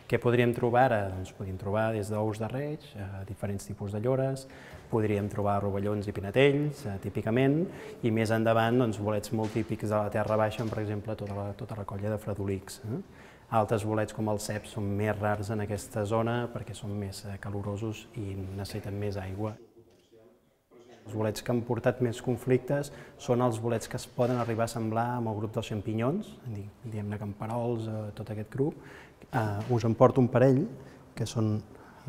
Què podríem trobar ara? Doncs podríem trobar des d'ous de reig, diferents tipus de llores, podríem trobar rovellons i pinetells, típicament, i més endavant bolets molt típics de la terra baixa, per exemple, tota la colla de fredolics. Altres bolets com els ceps són més rars en aquesta zona perquè són més calorosos i necessiten més aigua. Els bolets que han portat més conflictes són els bolets que es poden arribar a semblar amb el grup dels xampinyons, diguem-ne camperols, tot aquest grup. Us en porto un parell, que són,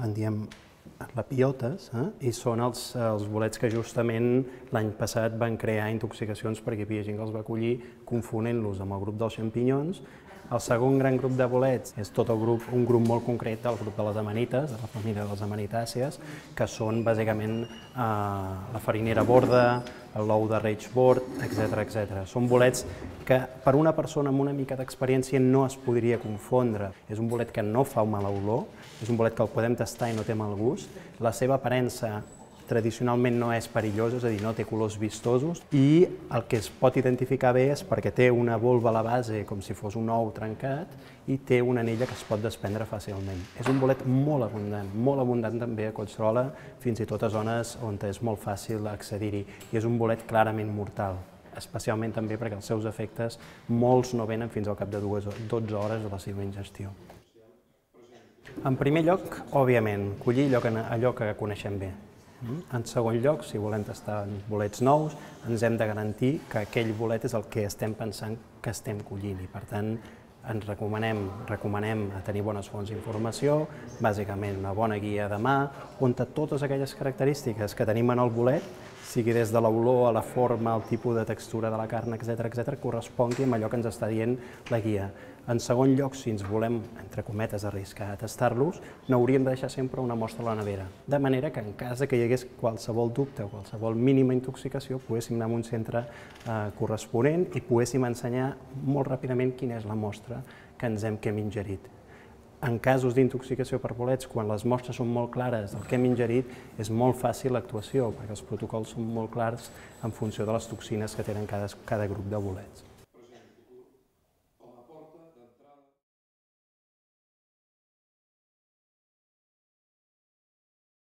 en diem, lapiotes, i són els bolets que justament l'any passat van crear intoxicacions perquè hi havia gent que els va collir confonent-los amb el grup dels xampinyons. El segon gran grup de bolets és tot un grup molt concret del grup de les amanites, de la família de les amanitàcies, que són bàsicament la farinera borda, l'ou de reig bord, etc. Són bolets que per una persona amb una mica d'experiència no es podria confondre. És un bolet que no fa mala olor, és un bolet que el podem tastar i no té mal gust. La seva aparença tradicionalment no és perillós, és a dir, no té colors vistosos, i el que es pot identificar bé és perquè té una volva a la base com si fos un ou trencat i té una anella que es pot desprendre fàcilment. És un bolet molt abundant també a Collserola, fins i tot a zones on és molt fàcil accedir-hi, i és un bolet clarament mortal, especialment també perquè els seus efectes molts no venen fins al cap de 12 hores de la seva ingestió. En primer lloc, òbviament, collir allò que coneixem bé. En segon lloc, si volem tastar bolets nous, ens hem de garantir que aquell bolet és el que estem pensant que estem collint, i per tant ens recomanem tenir bones fonts d'informació, bàsicament una bona guia de mà, on totes aquelles característiques que tenim en el bolet, sigui des de l'olor a la forma, al tipus de textura de la carn, etc., correspongui amb allò que ens està dient la guia. En segon lloc, si ens volem, entre cometes, arriscar a tastar-los, n'hauríem de deixar sempre una mostra a la nevera, de manera que en cas que hi hagués qualsevol dubte o qualsevol mínima intoxicació, poguéssim anar a un centre corresponent i poguéssim ensenyar molt ràpidament quina és la mostra que hem ingerit. En casos d'intoxicació per bolets, quan les mostres són molt clares del que hem ingerit, és molt fàcil l'actuació, perquè els protocols són molt clars en funció de les toxines que tenen cada grup de bolets.